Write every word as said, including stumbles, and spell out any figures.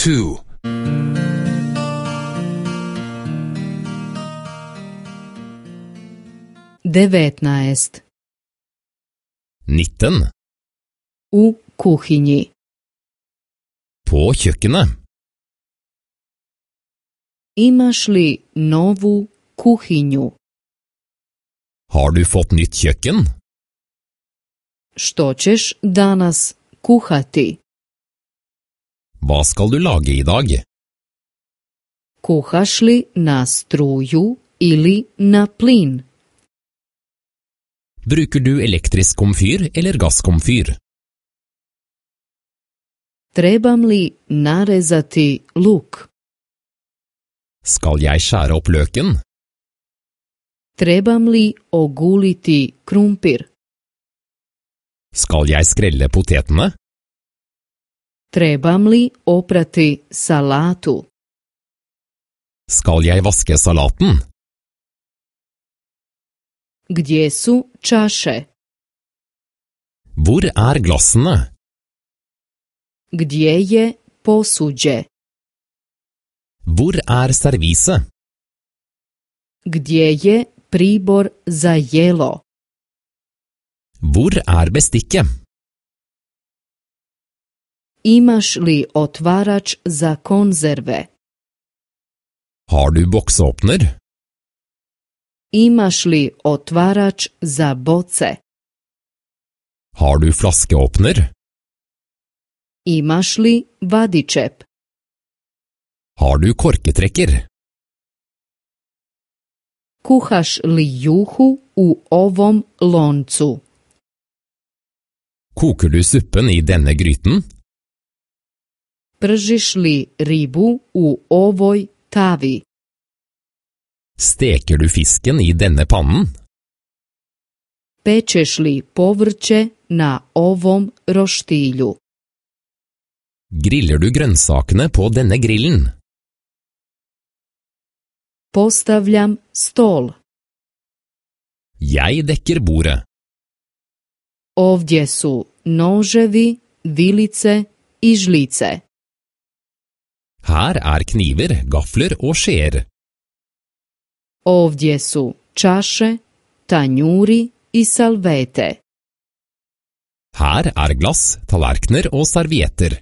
two. devetnaest. nitten. U kuhinji. På kjøkkenet. Imaš li novu kuhinju? Har du fått nytt kjøkken? Što ćeš danas kuhati? Hva skal du lage i dag? Kuhaš li na struju ili na plin? Bruker du elektrisk komfyr eller gasskomfyr? Trebam li narezati luk? Skal jeg skjære opp løken? Trebam li oguliti krumpir? Skal jeg skrelle potetene? Trebam li oprati salatu? Skal jeg vaske salaten? Gdje su čaše? Hvor er glassene? Gdje je posuđe? Hvor er servise? Gdje je pribor za jelo? Hvor er bestikket? Imaš li otvarač za konzerve? Har du boksåpner? Imaš li otvarač za boce? Har du flaskeåpner? Imaš li vadičep? Har du korketrekker? Kuhaš li juhu u ovom loncu? Koker du suppen i denne gryten? Pržiš li ribu u ovoj tavi? Steker du fisken i denne pannen? Pečeš li povrće na ovom roštilju? Griller du grønnsakene på denne grillen? Postavljam stol. Jeg dekker bordet. Ovdje su noževi, vilice i žlice. Her er kniver, gafler og skjeer. Ovdje su čaše, tanjuri i salvete. Her er glass, tallerkener og servietter.